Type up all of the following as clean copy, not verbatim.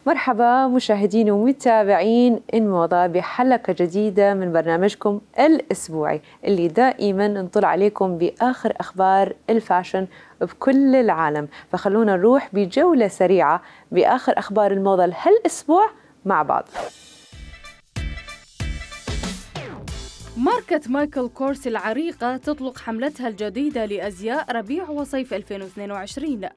مرحبا مشاهدين ومتابعين إنموضة بحلقة جديدة من برنامجكم الأسبوعي اللي دائما نطلع عليكم بآخر أخبار الفاشن بكل العالم. فخلونا نروح بجولة سريعة بآخر أخبار الموضة هالأسبوع مع بعض. ماركة مايكل كورس العريقة تطلق حملتها الجديدة لأزياء ربيع وصيف 2022،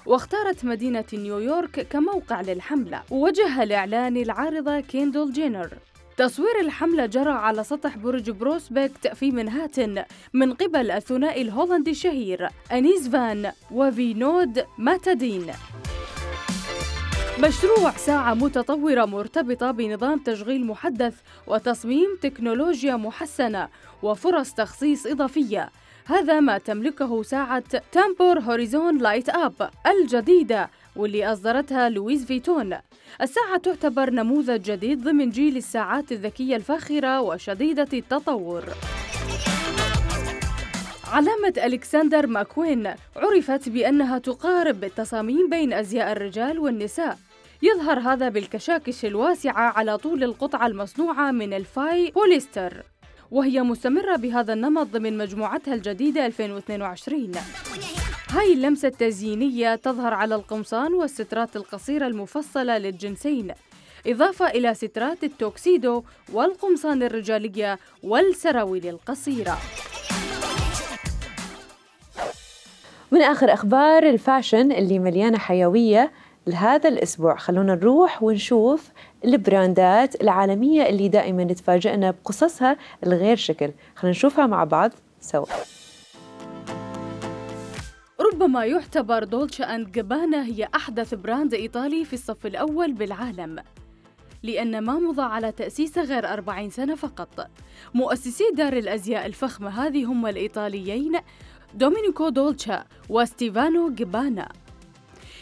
واختارت مدينة نيويورك كموقع للحملة، ووجهها الإعلان العارضة كيندل جينر. تصوير الحملة جرى على سطح برج بروسبكت في منهاتن من قبل الثنائي الهولندي الشهير أنيس فان وفينود ماتادين. مشروع ساعة متطورة مرتبطة بنظام تشغيل محدث وتصميم تكنولوجيا محسنة وفرص تخصيص إضافية، هذا ما تملكه ساعة تامبور هوريزون لايت أب الجديدة واللي أصدرتها لويس فيتون. الساعة تعتبر نموذج جديد ضمن جيل الساعات الذكية الفاخرة وشديدة التطور. علامة ألكسندر ماكوين عرفت بأنها تقارب التصاميم بين أزياء الرجال والنساء، يظهر هذا بالكشاكش الواسعة على طول القطعة المصنوعة من الفاي بوليستر، وهي مستمرة بهذا النمط ضمن مجموعتها الجديدة 2022. هاي اللمسة التزيينية تظهر على القمصان والسترات القصيرة المفصلة للجنسين، إضافة إلى سترات التوكسيدو والقمصان الرجالية والسراويل القصيرة. من آخر أخبار الفاشن اللي مليانة حيوية لهذا الأسبوع، خلونا نروح ونشوف البراندات العالمية اللي دائما تفاجئنا بقصصها الغير شكل. خلونا نشوفها مع بعض سوا. ربما يعتبر دولتشي أند جابانا هي أحدث براند إيطالي في الصف الأول بالعالم، لأن ما مضى على تأسيسه غير 40 سنة فقط. مؤسسي دار الأزياء الفخمة هذه هم الإيطاليين دومينيكو دولتشي وستيفانو جابانا.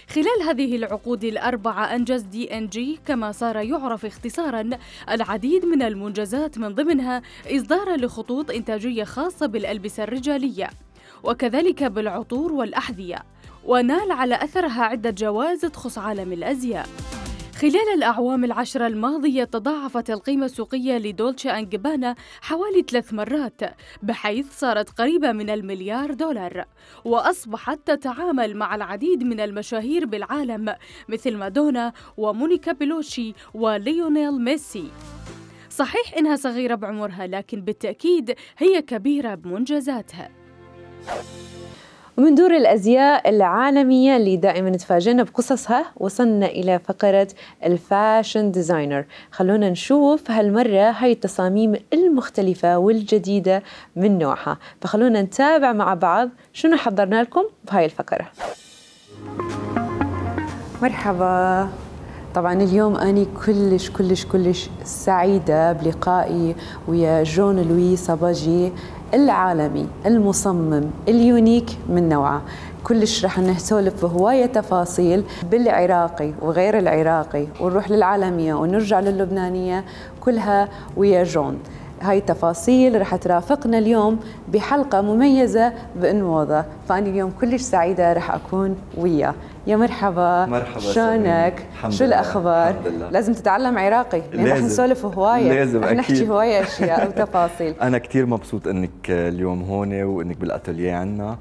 خلال هذه العقود الأربعة أنجز D&G كما صار يعرف اختصاراً العديد من المنجزات، من ضمنها إصدار لخطوط إنتاجية خاصة بالألبسة الرجالية وكذلك بالعطور والأحذية، ونال على أثرها عدة جوائز تخص عالم الأزياء. خلال الأعوام العشرة الماضية تضاعفت القيمة السوقية لدولتشي أند جابانا حوالي 3 مرات، بحيث صارت قريبة من $1,000,000، وأصبحت تتعامل مع العديد من المشاهير بالعالم مثل مادونا ومونيكا بيلوتشي وليونيل ميسي. صحيح إنها صغيرة بعمرها، لكن بالتأكيد هي كبيرة بمنجزاتها. ومن دور الأزياء العالمية اللي دائما تفاجئنا بقصصها، وصلنا إلى فقرة الفاشن ديزاينر. خلونا نشوف هالمرة هاي التصاميم المختلفة والجديدة من نوعها، فخلونا نتابع مع بعض شنو حضرنا لكم بهاي الفقرة. مرحبا. طبعا اليوم أنا كلش سعيدة بلقائي ويا جون لوي ساباجي العالمي المصمم اليونيك من نوعه. كلش رح نسولف بهواية تفاصيل بالعراقي وغير العراقي، ونروح للعالمية ونرجع للبنانية، كلها ويا جون. هاي التفاصيل رح ترافقنا اليوم بحلقة مميزة بإنموضة، فأنا اليوم كلش سعيدة رح أكون وياه. يا مرحبا. مرحبا. شلونك؟ شو الأخبار؟ لازم تتعلم عراقي لأن رح نسولف هواية، لازم رح نحكي هواية أشياء وتفاصيل. أنا كتير مبسوط إنك اليوم هون وإنك بالأتولييه عنا،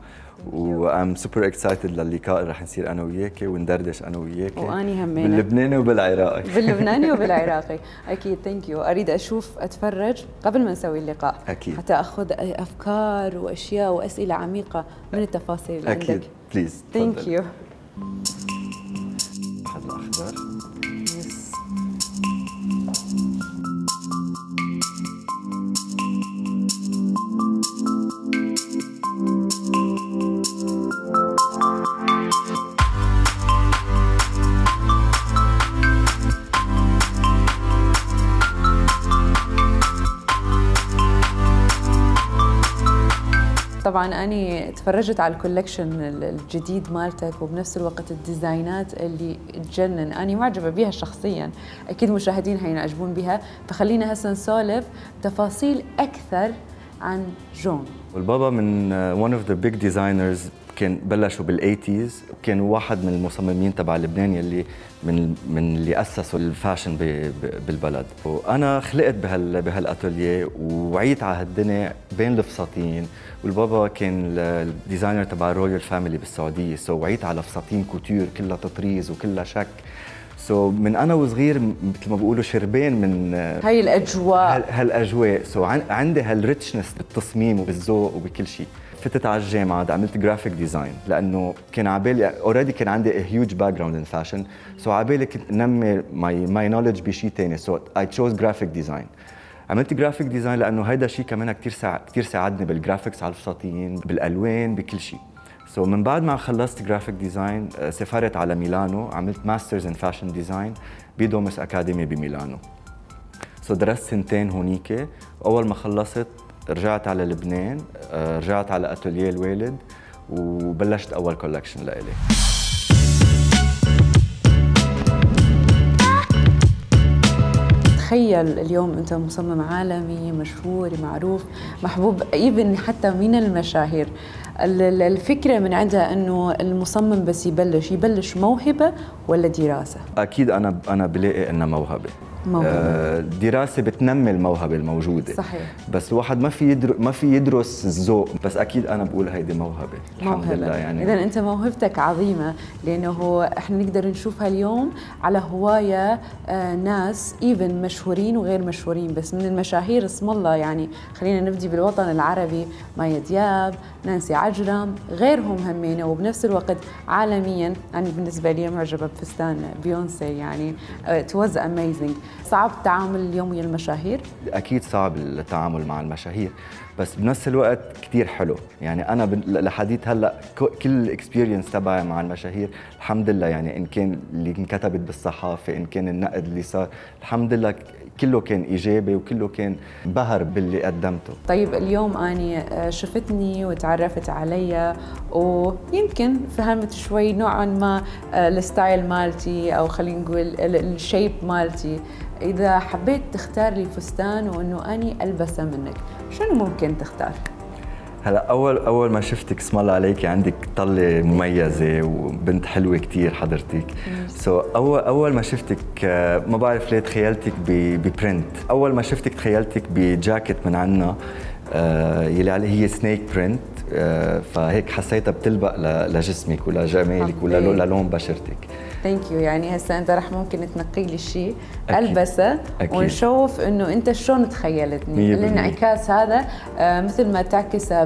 وأم سوبر اكسايتد للقاء اللي رح نصير أنا وياكي وندردش أنا وياكي، وأني همينة باللبناني وبالعراقي. باللبناني وبالعراقي أكيد. ثانك يو. أريد أتفرج قبل ما نسوي اللقاء أكيد، حتى أخذ أفكار وأشياء وأسئلة عميقة من التفاصيل اللي أكيد. عندك. بليز. ثانك يو. أخذ الأخضر. طبعا أنا تفرجت على الكولكشن الجديد مالتك، وبنفس الوقت الديزاينات اللي تجنن، أنا معجبة بها شخصيا، أكيد مشاهدين هينعجبون بها. فخلينا هسه نسولف تفاصيل أكثر عن جون. والبابا من one of the big designers وكان بلشوا بالأيتيز، وكان واحد من المصممين تبع لبنان يلي من اللي أسسوا الفاشن بالبلد. وأنا خلقت بهالأتوليه ووعيت على هالدنيا بين الفساتين، والبابا كان الديزاينر تبع رويال فاميلي بالسعودية، وعيت على فساتين كوتور كلها تطريز وكلها شك. من أنا وصغير مثل ما بيقولوا شربين من هاي الأجواء هالأجواء. عندي هالريتشنس بالتصميم وبالذوق وبكل شيء. فتت على الجامعة عملت جرافيك ديزاين، لأنه كان عبالي اوريدي كان عندي هيوج باك جراوند ان فاشن، عبالي كنت نمي ماي نوليدج بشيء ثاني، اي تشوز جرافيك ديزاين. عملت جرافيك ديزاين لأنه هيدا شيء كمان كثير ساعدني بالجرافيكس على الفساتين، بالألوان، بكل شيء. من بعد ما خلصت جرافيك ديزاين سافرت على ميلانو، عملت ماسترز ان فاشن ديزاين بدومس اكاديمي بميلانو. درست سنتين هونيك. اول ما خلصت رجعت على لبنان، رجعت على اتوليه الوالد وبلشت اول كولكشن لإلي. تخيل اليوم انت مصمم عالمي مشهور معروف محبوب ايفن حتى من المشاهير. الفكره من عندها انه المصمم بس يبلش موهبه ولا دراسه؟ اكيد انا بلاقي انها موهبه. الدراسه بتنمي الموهبه الموجوده. صحيح. بس الواحد ما في يدرس الذوق، بس اكيد انا بقول هيدي موهبه. الحمد لله. يعني اذا انت موهبتك عظيمه، لانه احنا نقدر نشوفها اليوم على هوايه ناس ايفن مشهورين وغير مشهورين، بس من المشاهير اسم الله، يعني خلينا نبدي بالوطن العربي، مايا دياب، نانسي عجرم، غيرهم همينه، وبنفس الوقت عالميا انا بالنسبه لي معجبه بفستان بيونسي، يعني it was amazing. صعب التعامل اليوم ويا المشاهير؟ اكيد صعب التعامل مع المشاهير، بس بنفس الوقت كثير حلو. يعني انا لحديت هلا كل الاكسبيرينس تبعي مع المشاهير الحمد لله، يعني ان كان اللي انكتبت بالصحافه، ان كان النقد اللي صار، الحمد لله كله كان ايجابي وكله كان بهر باللي قدمته. طيب اليوم اني شفتني وتعرفت علي ويمكن فهمت شوي نوعا ما الستايل مالتي، او خلينا نقول الشيب مالتي. اذا حبيت تختار لي فستان وانه اني البسه منك، شنو ممكن تختار؟ هلا اول ما شفتك اسم الله عليكي عندك طله مميزه وبنت حلوه كثير حضرتك. اول ما شفتك ما بعرف ليه تخيلتك ببرنت. اول ما شفتك تخيلتك بجاكيت من عنا يلي عليه هي سنيك برنت، فهيك حسيتها بتلبق لجسمك ولجمالك وللون بشرتك. ثانك يو. يعني هسه انت رح ممكن تنقي لي شيء البسه ونشوف انه انت شلون تخيلتني. الانعكاس هذا مثل ما تعكسه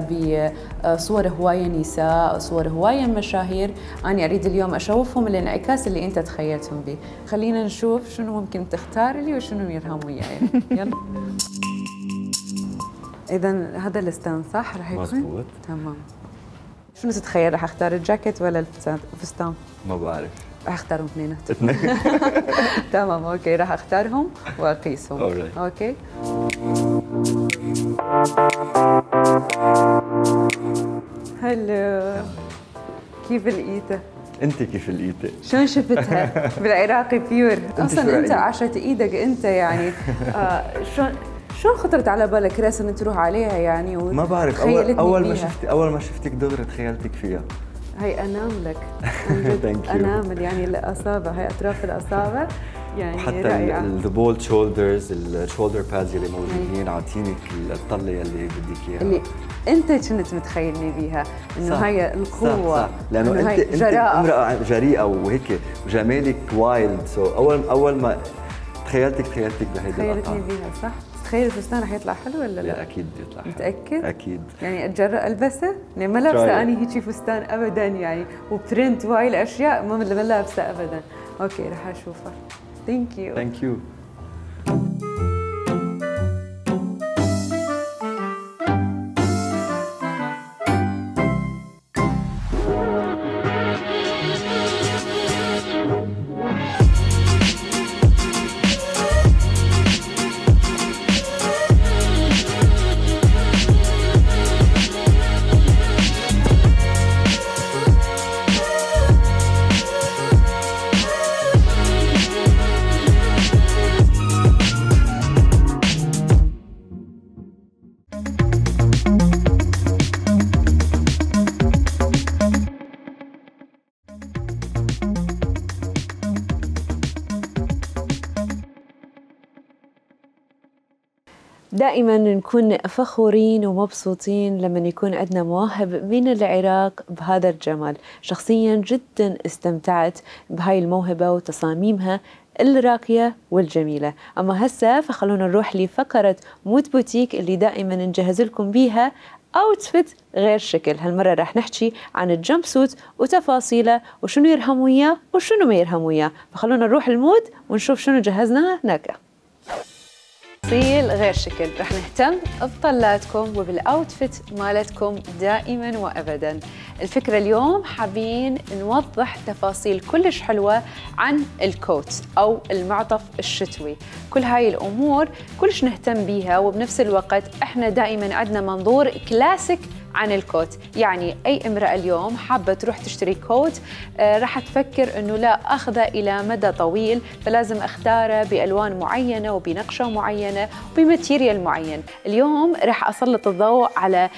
بصور هوايه نساء، صور هوايه مشاهير، انا اريد اليوم اشوفهم الانعكاس اللي انت تخيلتهم به. خلينا نشوف شنو ممكن تختار لي وشنو يرهم وياي. يلا. اذا هذا الستان صح رح يكون؟ مزبوط. تمام. شنو تتخيل، رح اختار الجاكيت ولا الفستان؟ ما بعرف. رح اختارهم اثنيناتهم. تمام اوكي، رح اختارهم واقيسهم. اوكي. هلو، كيف لقيته؟ انت كيف لقيته؟ شلون شفتها؟ بالعراقي بيور. اصلا انت عاشت ايدك انت، يعني شلون خطرت على بالك راسا ان تروح عليها يعني؟ ما بعرف، اول ما شفتك دغري تخيلتك فيها. هي اناملك انامل، يعني الاصابع، هي اطراف الاصابع يعني حتى رائعه. البولد شولدرز، الشولدر بادز اللي موجودين عاطينك الطله اللي بدك اياها، اللي انت كنت متخيلني بيها انه هي القوه. صح. لانه انت امراه جريئه وهيك وجمالك وايلد. اول ما تخيلتك بهيدي تخيلتني بيها. صح. تخيل الفستان رح يطلع حلو ولا لا؟ اكيد يطلع حلو. متاكد؟ اكيد. يعني اتجرأ البسه؟ يعني ما لابسه اني هيك فستان ابدا، يعني وبرنت وهاي الاشياء ما لابسه ابدا. اوكي رح اشوفها. ثانك يو. دائما نكون فخورين ومبسوطين لما يكون عندنا مواهب من العراق بهذا الجمال. شخصيا جدا استمتعت بهاي الموهبة وتصاميمها الراقية والجميلة. أما هسه فخلونا نروح لفقرة مود بوتيك اللي دائما نجهز لكم بيها اوتفيت غير شكل. هالمرة راح نحكي عن الجمب سوت وتفاصيله وشنو يرهم وياه وشنو ما يرهم وياه. فخلونا نروح المود ونشوف شنو جهزنا هناك. تفاصيل غير شكل، رح نهتم بطلاتكم وبالاوتفيت مالتكم دائما وابدا. الفكرة اليوم حابين نوضح تفاصيل كلش حلوة عن الكوت او المعطف الشتوي. كل هاي الامور كلش نهتم بيها، وبنفس الوقت احنا دائما عندنا منظور كلاسيك عن الكوت. يعني أي امرأة اليوم حابة تروح تشتري كوت راح تفكر أنه لا أخذه إلى مدى طويل، فلازم أختاره بألوان معينة وبنقشة معينة وبماتيريال معين. اليوم راح أسلط الضوء على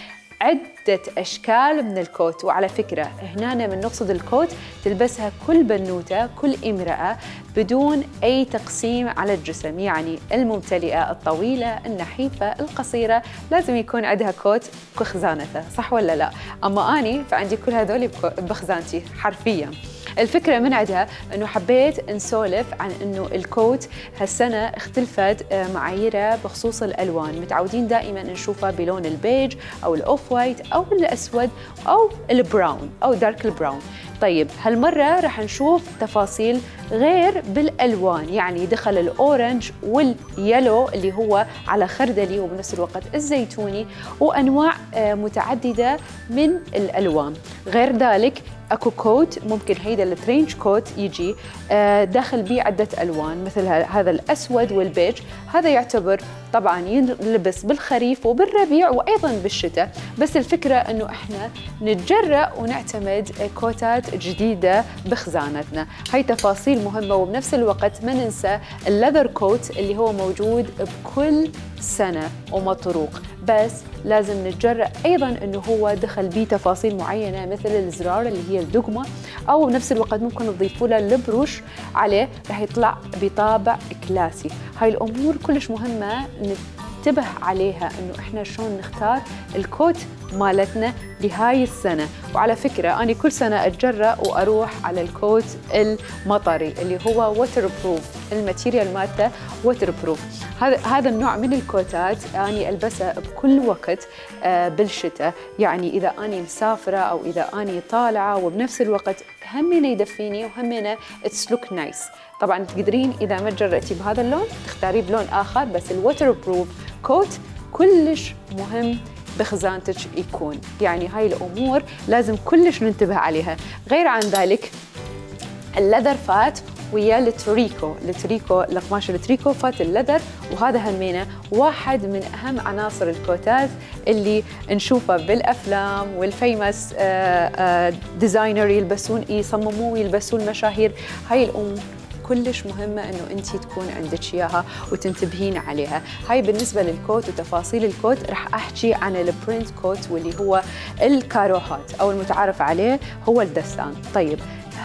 عدة أشكال من الكوت. وعلى فكرة هنا من نقصد الكوت تلبسها كل بنوتة، كل امرأة بدون أي تقسيم على الجسم. يعني الممتلئة، الطويلة، النحيفة، القصيرة، لازم يكون عندها كوت بخزانتها، صح ولا لا؟ أما أني فعندي كل هذول بخزانتي حرفياً. الفكرة من عندها أنه حبيت نسولف عن أنه الكوت هالسنة اختلفت معاييره بخصوص الألوان. متعودين دائما نشوفها بلون البيج أو الأوف وايت أو الأسود أو البراون أو دارك البراون. طيب هالمرة راح نشوف تفاصيل غير بالألوان، يعني دخل الأورنج واليلو اللي هو على خردلي وبنفس الوقت الزيتوني، وأنواع متعددة من الألوان. غير ذلك اكو كوت ممكن هيدا الترينج كوت يجي داخل بيه عدة الوان مثل هذا الاسود والبيج. هذا يعتبر طبعا يلبس بالخريف وبالربيع وايضا بالشتاء، بس الفكرة انه احنا نتجرأ ونعتمد كوتات جديدة بخزانتنا. هاي تفاصيل مهمة، وبنفس الوقت ما ننسى الليذر كوت اللي هو موجود بكل سنة ومطروق، بس لازم نتجرأ أيضاً أنه هو دخل بيه تفاصيل معينة مثل الزرار اللي هي الدقمة، أو بنفس الوقت ممكن نضيفوا له البروش عليه رح يطلع بطابع كلاسي. هاي الأمور كلش مهمة ننتبه عليها، أنه إحنا شلون نختار الكوت مالتنا لهاي السنة. وعلى فكرة أنا كل سنة أتجرأ وأروح على الكوت المطري اللي هو ووتر بروف، الماتيريال مالته ووتر بروف. هذا النوع من الكوتات أنا ألبسها بكل وقت بالشتاء. يعني إذا أنا مسافرة أو إذا أنا طالعة، وبنفس الوقت همينة يدفيني وهمينة اتس لوك نايس. طبعا تقدرين إذا ما تجرأتي بهذا اللون تختاريه بلون آخر، بس الووتر بروف كوت كلش مهم بخزانتك يكون. يعني هاي الأمور لازم كلش ننتبه عليها. غير عن ذلك اللذر فات ويا التريكو، القماش التريكو فات اللذر، وهذا همينه واحد من أهم عناصر الكوتات اللي نشوفها بالأفلام والفيمس ديزاينر يلبسون يصمموه ويلبسون المشاهير. هاي الأمور كلش مهمة أنه أنتي تكون عندك إياها وتنتبهين عليها. هاي بالنسبة للكوت وتفاصيل الكوت. رح أحكي عن البرنت كوت واللي هو الكاروهات أو المتعارف عليه هو الدستان. طيب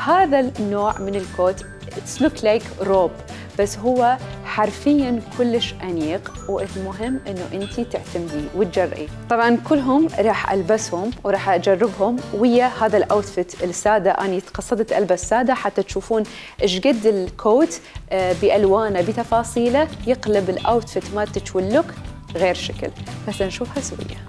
هذا النوع من الكوت it's look like روب، بس هو حرفياً كلش أنيق، والمهم إنه أنتي تعتمديه وتجرئي. طبعاً كلهم راح ألبسهم وراح أجربهم ويا هذا الأوتفيت السادة. أنا قصدت ألبس سادة حتى تشوفون إيش قد الكوت بألوانه بتفاصيله يقلب الأوتفيت مالتك واللوك غير شكل. بس نشوفها سوية.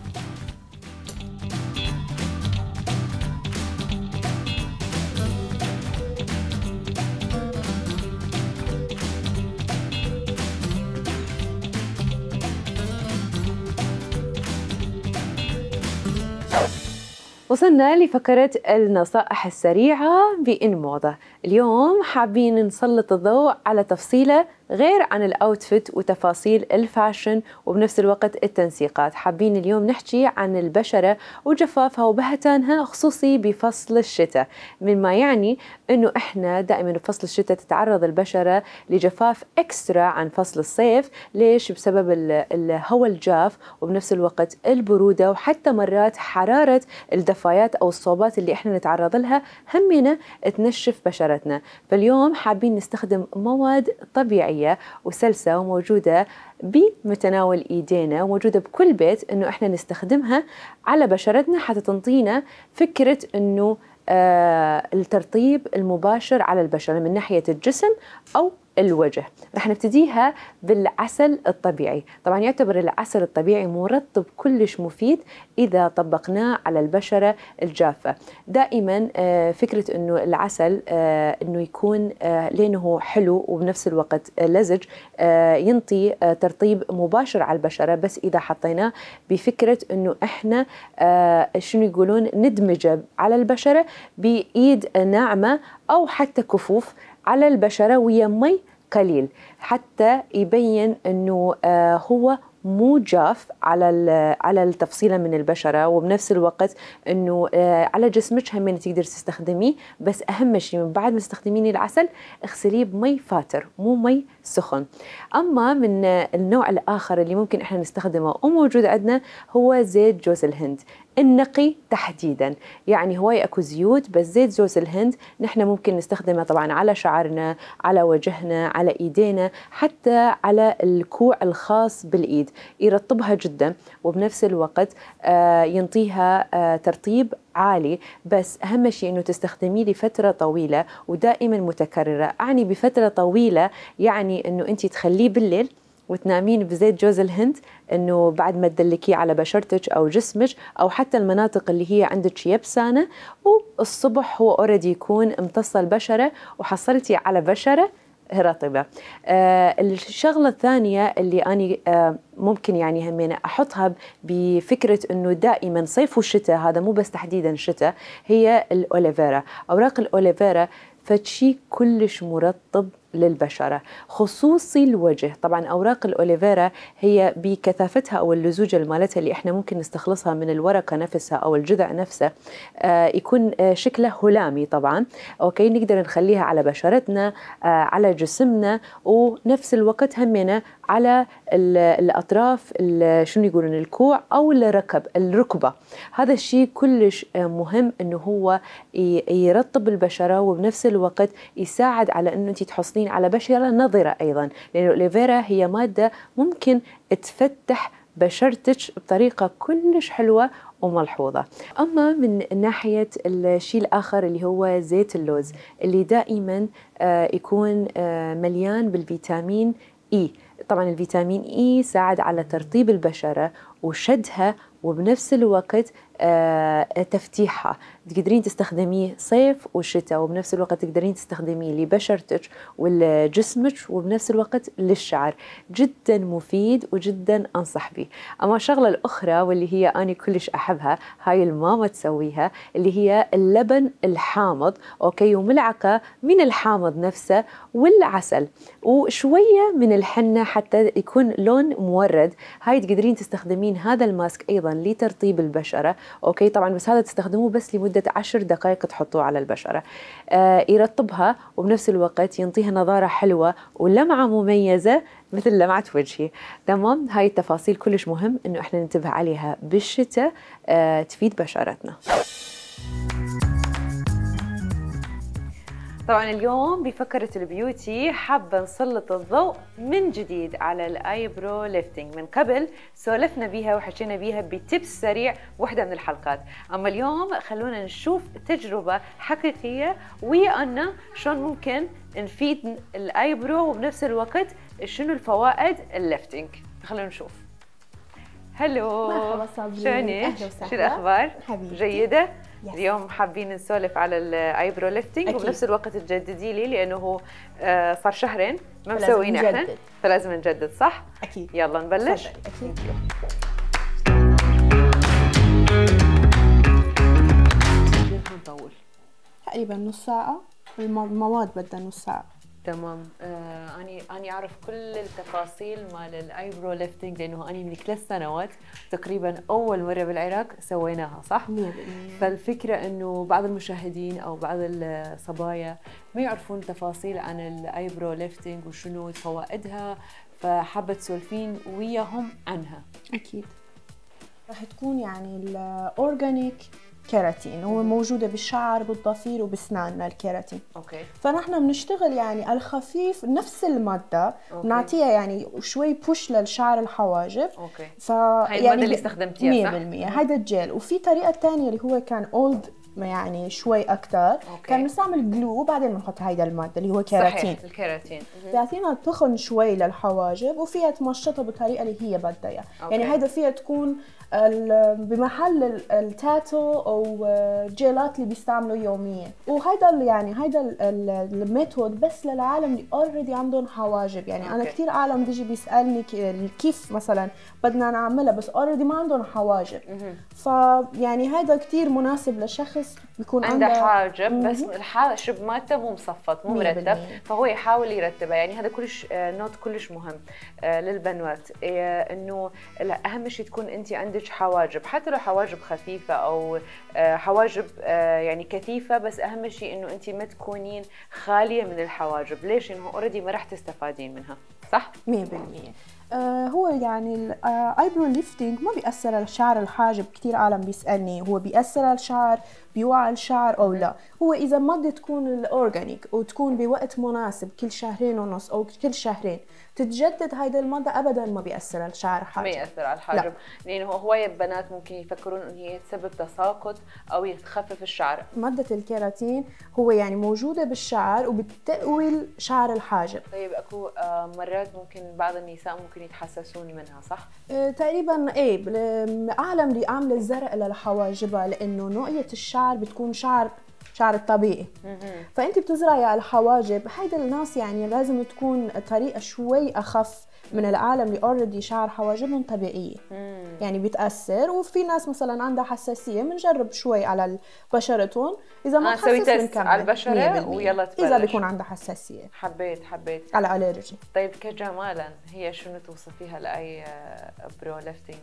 وصلنا لفقرة النصائح السريعة بإن موضة. اليوم حابين نسلط الضوء على تفصيلة غير عن الأوتفيت وتفاصيل الفاشن وبنفس الوقت التنسيقات. حابين اليوم نحكي عن البشرة وجفافها وبهتانها، خصوصي بفصل الشتاء، مما يعني أنه إحنا دائما بفصل الشتاء تتعرض البشرة لجفاف إكسترا عن فصل الصيف. ليش؟ بسبب الهواء الجاف وبنفس الوقت البرودة، وحتى مرات حرارة الدفايات أو الصوبات اللي إحنا نتعرض لها همنا تنشف بشرتنا. بشرتنا. فاليوم حابين نستخدم مواد طبيعية وسلسة وموجودة بمتناول ايدينا وموجودة بكل بيت، انه احنا نستخدمها على بشرتنا حتى تنطينا فكرة انه الترطيب المباشر على البشرة من ناحية الجسم أو الوجه. رح نبتديها بالعسل الطبيعي. طبعا يعتبر العسل الطبيعي مرطب كلش مفيد إذا طبقناه على البشرة الجافة. دائما فكرة أنه العسل أنه يكون لأنه حلو وبنفس الوقت لزج ينطي ترطيب مباشر على البشرة، بس إذا حطيناه بفكرة أنه إحنا شنو يقولون ندمجه على البشرة بإيد ناعمة أو حتى كفوف على البشرة ويا مي قليل، حتى يبين أنه هو مو جاف على التفصيلة من البشرة، وبنفس الوقت أنه على جسمك هم تقدر تستخدميه. بس أهم شيء من بعد ما تستخدمين العسل اغسليه بمي فاتر مو مي سخن. أما من النوع الآخر اللي ممكن إحنا نستخدمه وموجود عندنا هو زيت جوز الهند النقي تحديدا. يعني هواي اكو زيوت، بس زيت جوز الهند نحن ممكن نستخدمه طبعا على شعرنا، على وجهنا، على ايدينا، حتى على الكوع الخاص بالايد، يرطبها جدا وبنفس الوقت ينطيها ترطيب عالي. بس اهم شيء انه تستخدميه لفتره طويله ودائما متكرره. اعني بفتره طويله يعني انه انت تخليه بالليل وتنامين بزيت جوز الهند، انه بعد ما تدلكيه على بشرتك او جسمك او حتى المناطق اللي هي عندك يبسانه، والصبح هو اوريدي يكون امتص البشره وحصلتي على بشره رطبه. الشغله الثانيه اللي اني ممكن يعني همين احطها بفكره انه دائما صيف والشتاء، هذا مو بس تحديدا شتاء، هي الاوليفيرا. اوراق الاوليفيرا فشي كلش مرطب للبشرة، خصوصي الوجه. طبعا أوراق الأوليفيرا هي بكثافتها أو اللزوجة مالتها اللي إحنا ممكن نستخلصها من الورقة نفسها أو الجذع نفسه، يكون شكله هلامي طبعا. أوكي، نقدر نخليها على بشرتنا، على جسمنا، ونفس الوقت همنا على الأطراف، شنو يقولون، الكوع أو الركبة. هذا الشيء كلش مهم إنه هو يرطب البشرة وبنفس الوقت يساعد على إنه أنت تحصلين على بشرة نضرة أيضا، لأن الأوليفيرا هي مادة ممكن تفتح بشرتك بطريقة كلش حلوة وملحوظة. أما من ناحية الشيء الآخر اللي هو زيت اللوز، اللي دائما يكون مليان بالفيتامين إي. طبعا الفيتامين إي ساعد على ترطيب البشرة وشدها وبنفس الوقت تفتيحها. تقدرين تستخدميه صيف وشتاء، وبنفس الوقت تقدرين تستخدميه لبشرتك ولجسمك وبنفس الوقت للشعر. جدا مفيد وجدا أنصح به. أما الشغلة الأخرى واللي هي أنا كلش أحبها، هاي الماما تسويها، اللي هي اللبن الحامض، أوكي، وملعقة من الحامض نفسه والعسل وشوية من الحنة حتى يكون لون مورد. هاي تقدرين تستخدمين هذا الماسك أيضا لترطيب البشرة، أوكي. طبعا بس هذا تستخدموه بس لمدة 10 دقائق تحطوه على البشرة، يرطبها وبنفس الوقت ينطيها نضارة حلوة ولمعة مميزة مثل لمعة وجهي. تمام، هاي التفاصيل كلش مهم إنه إحنا ننتبه عليها بالشتاء، تفيد بشرتنا. طبعا اليوم بفكرة البيوتي حابة نسلط الضوء من جديد على الايبرو ليفتنج. من قبل سولفنا بيها وحكينا بيها بتبس سريع وحدة من الحلقات، اما اليوم خلونا نشوف تجربة حقيقية ويانا شلون ممكن نفيد الايبرو وبنفس الوقت شنو الفوائد الليفتنج. خلونا نشوف. هلو، مرحبا صابرين، شلونك؟ شو الاخبار؟ حبيبتي جيدة؟ يس. اليوم حابين نسولف على الايبرو ليفتنج، وبنفس الوقت تجددي لي لانه صار شهرين ما مسوينا احنا، فلازم نجدد. صح؟ اكيد. يلا نبلش. اكيد. نطول تقريبا نص ساعة، المواد بدها نص ساعة. تمام. أنا أعرف كل التفاصيل مال الايبرو ليفتنج لأنه أنا من 3 سنوات تقريبا أول مرة بالعراق سويناها، صح؟ 100%. فالفكرة إنه بعض المشاهدين أو بعض الصبايا ما يعرفون تفاصيل عن الايبرو ليفتنج وشنو فوائدها، فحابة تسولفين وياهم عنها. أكيد. راح تكون يعني الأورجانيك كيراتين، هو موجودة بالشعر بالضفير وبسناننا الكيراتين. اوكي. فنحن بنشتغل يعني الخفيف نفس المادة، بنعطيها يعني شوي بوش للشعر الحواجب. اوكي. هاي المادة اللي استخدمتيها صح؟ 100%. هذا الجيل. وفي طريقة ثانية اللي هو كان اولد يعني شوي اكثر، كان نستعمل جلو وبعدين بنحط هيدا الماده اللي هو كيراتين. صحيح الكيراتين بيعطينا تخن شوي للحواجب، وفيها تمشطها بالطريقه اللي هي بدها اياها. يعني هيدا فيها تكون بمحل التاتو او جيلات اللي بيستعملوا يوميا. وهيدا يعني هيدا الميثود بس للعالم اللي اوريدي عندهم حواجب. يعني انا كثير عالم بيجي بيسالني كيف مثلا بدنا نعملها بس اوريدي ما عندهم حواجب. فيعني هيدا كثير مناسب لشخص بيكون عنده حاجب بس الحاجب مالته مو مصفط مو مرتب، فهو يحاول يرتبها. يعني هذا كلش نوت كلش مهم للبنات، انه اهم شيء تكون انت عندك حواجب، حتى لو حواجب خفيفه او حواجب يعني كثيفه، بس اهم شيء انه انت ما تكونين خاليه من الحواجب. ليش؟ انه اوريدي ما راح تستفادين منها، صح؟ 100%. هو يعني الايبرو ليفتنج ما بيأثر على شعر الحاجب. كثير عالم بيسألني هو بيأثر على الشعر، بيوعى الشعر او لا. هو اذا مادة تكون الاورجانيك وتكون بوقت مناسب كل 2.5 او كل شهرين تتجدد هيدا المادة، ابدا ما بيأثر على الشعر الحاجب. ما يأثر على الحاجب، لانه هواية بنات ممكن يفكرون ان هي تسبب تساقط او يخفف الشعر. مادة الكيراتين هو يعني موجودة بالشعر وبتقوي شعر الحاجب. طيب اكو مرات ممكن بعض النساء ممكن يتحسسون منها، صح؟ تقريبا ايه. العالم اللي عامله زرق لحواجبها لانه نوعية الشعر بتكون شعر الطبيعي. فانت بتزرعي على الحواجب، هيدا الناس يعني لازم تكون طريقه شوي اخف من العالم اللي اوريدي شعر حواجبهم طبيعيه. يعني بيتاثر. وفي ناس مثلا عندها حساسيه بنجرب شوي على بشرتهم، اذا ما تسوي تست على البشره ويلا تبلش. اذا بيكون عندها حساسيه حبيت على الالرجي. طيب كجمالا هي شنو توصفيها لاي برو ليفتنج؟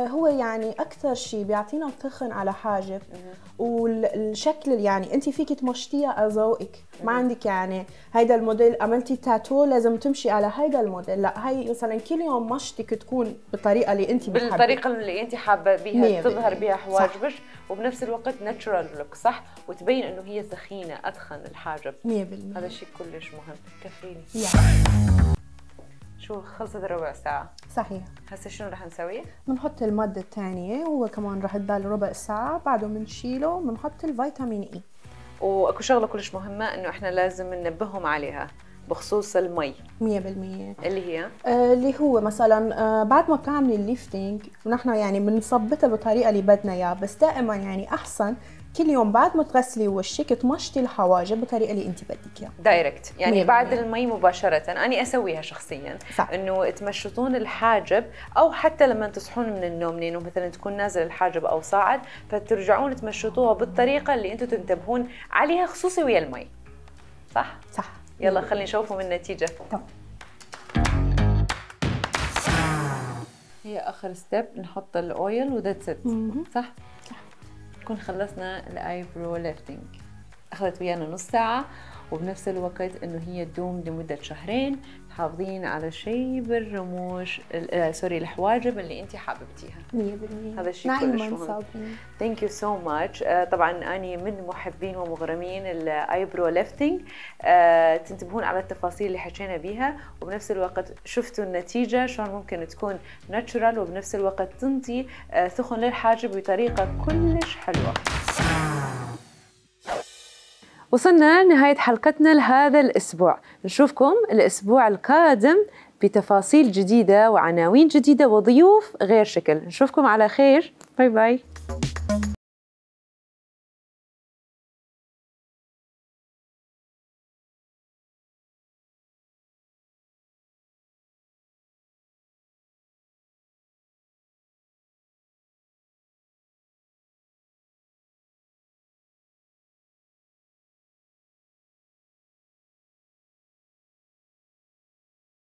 هو يعني اكثر شيء بيعطينا تخن على حاجب، والشكل يعني انت فيك تمشطيها على ذوقك. ما عندك يعني هيدا الموديل عملتي تاتو لازم تمشي على هيدا الموديل، لا. هي مثلا كل يوم مشطك تكون بالطريقه اللي انت بتحبي، بالطريقه اللي انت حابه بيها تظهر بيها حواجبك، وبنفس الوقت ناتشورال لوك، صح؟ وتبين انه هي ثخينه اتخن الحاجب 100%. هذا الشيء كلش مهم. كفيني شو خلصت ربع ساعة. صحيح. هسه شنو رح نسوي؟ بنحط المادة الثانية، هو كمان رح تضل ربع ساعة، بعده بنشيله بنحط الفيتامين اي. واكو شغلة كلش مهمة انه احنا لازم ننبههم عليها بخصوص المي 100%، اللي هي اللي هو مثلا بعد ما بتعملي الليفتنج نحن يعني بنثبتها بالطريقة اللي بدنا اياها، بس دائما يعني احسن كل يوم بعد ما تغسلي وشك تمشطي الحواجب بالطريقه اللي انت بدك اياها دايركت. يعني بعد المي مباشره. انا اسويها شخصيا، انه تمشطون الحاجب، او حتى لما تصحون من النوم لانه مثلا تكون نازل الحاجب او صاعد، فترجعون تمشطوها بالطريقه اللي انتم تنتبهون عليها، خصوصي ويا المي. صح؟ يلا خلينا نشوفوا من النتيجه. هي اخر ستيب نحط الاويل وذاتس ات. صح؟ نكون خلصنا الايبرو ليفتنج. اخذت ويانا نص ساعه، وبنفس الوقت انه هي تدوم لمده 2 شهر، تحافظين على شيء بالرموش سوري الحواجب اللي انت حاببتيها 100%. هذا الشيء كلش مهم. ثانك يو سو ماتش. طبعا اني من محبين ومغرمين الايبرو ليفتنج. تنتبهون على التفاصيل اللي حكينا بيها، وبنفس الوقت شفتوا النتيجه شلون ممكن تكون ناتشورال، وبنفس الوقت تنطي ثخن للحاجب بطريقه كلش حلوه. وصلنا لنهاية حلقتنا لهذا الأسبوع. نشوفكم الأسبوع القادم بتفاصيل جديدة وعناوين جديدة وضيوف غير شكل. نشوفكم على خير. باي باي.